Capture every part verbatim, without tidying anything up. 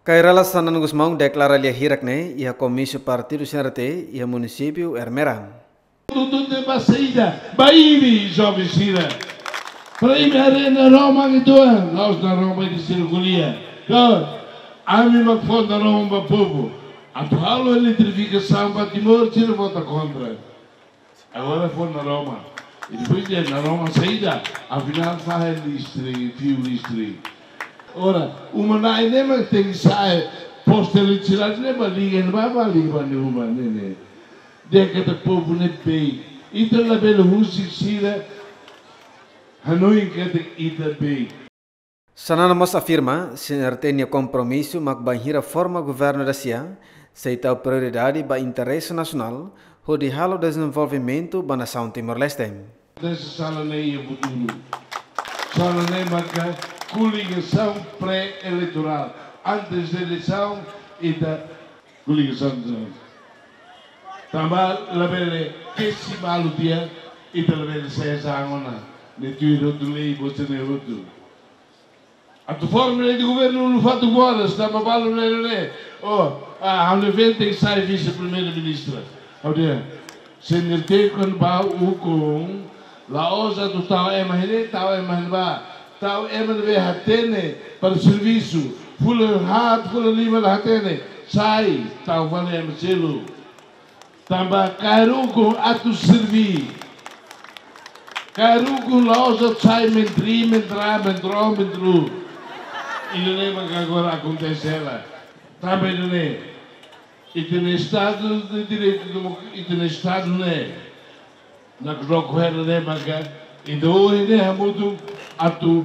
Kay Rala Xanana Gusmão deklara lia hirak ne'e iha komísiu partidu C N R T iha munisípiu Ermera. Tutu te ba saida, ba imi joven sira. Para imi haree naroman ituan, la'ós naroman ida sira ko'alia. Ka, ami mak fó naroman ba povu. Atu halo eletrifikasaun ba Timor, sira vota kontra. Agora fó naroman. I depois de naroman saida, afinál fahe listrik, fiu listrik. Ora, uma na'in ne'e mak tenke sa'e poste eletrisidade ne'e ba liga, ba, ba liga ba ne'e uma ne'e ne'e. Dehan katak povu ne'e bei. Ita labele husik sira hanoin katak ita bei. Xanana mós afirma, C N R T nia kompromisu mak bainhira forma governu dasia, sei tau prioridade ba interese nasionál, hodi halo dezenvolvimentu ba nasaun Timor-Leste. Dessa sala ne'e iha futuru. Sala ne'e maka koligasaun pré-eleitorál. Antes de eleisaun, ita koligasaun. Tanba labele kesi balu tiha, ita labele sesa angona. Ne'e tuir hotu lei, bote ne'e hotu. Atu forma lei de governu no fato boras, tanba balu lele le. Oh, ah, ha'u-nia vente sai vise-primeiru-ministru. Ha'u dehan, C N R T kuandu bá ukun, la'ós atu tau ema iha ne'e, tau ema iha ne'ebá, tau ema ne'ebé hatene para servisu, fulan haat, fulan lima la hatene, sai, tau fali ema seluk. Tanba kaer ukun atu serví. Kaer ukun la'ós atu sai mentri, mentra, mentro, mentru. Ida-ne'e mak agora akontese hela. Tanba ida-ne'e, ita-nia Estadu de Direitu, demo-, ita-nia Estadu ne'e, nakdoko hela ne'e maka, ita ohin ne'e hamutuk atu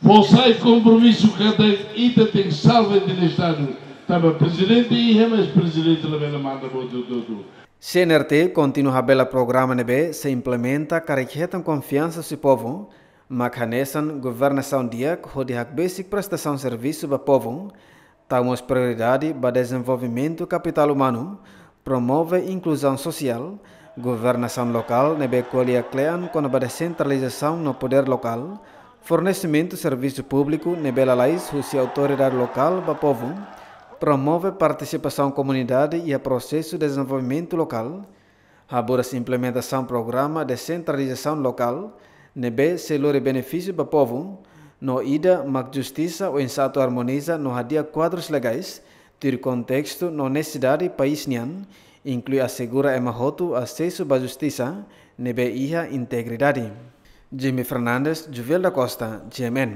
fó sai kompromisu katak ita tenke salva ita-nia Estadu. Tanba prezidente iha, mas prezidente labele manda buat hotu-hotu. C N R T kontinua habelar programa ne'ebé sei implementa karik hetan konfiansa husi povu, mak hanesan governasaun di'ak hodi hakbesik prestasaun servisu ba povu, tau mós prioridade ba dezenvolvimentu kapitál umanu, promove inkluzaun sosiál, governasaun lokál ne'ebé ko'alia kle'an kona-ba desentralizasaun no podér lokál, fornesimentu servisu públiku ne'ebé lalais husi autoridade lokál ba povu, promove partisipasaun komunidade iha prosesu dezenvolvimentu lokál, haburas implementasaun programa desentralizasaun lokál ne'ebé sei lori benefísiu ba povu, no ida mak justisa oinsá atu armoniza no hadi'a kuadrus legais tuir kontestu no nesesidade país nian, inklui asegura ema hotu asesu ba justisa ne'ebé iha integridade. Jimmy Fernandes, Juvel da Costa, G M N.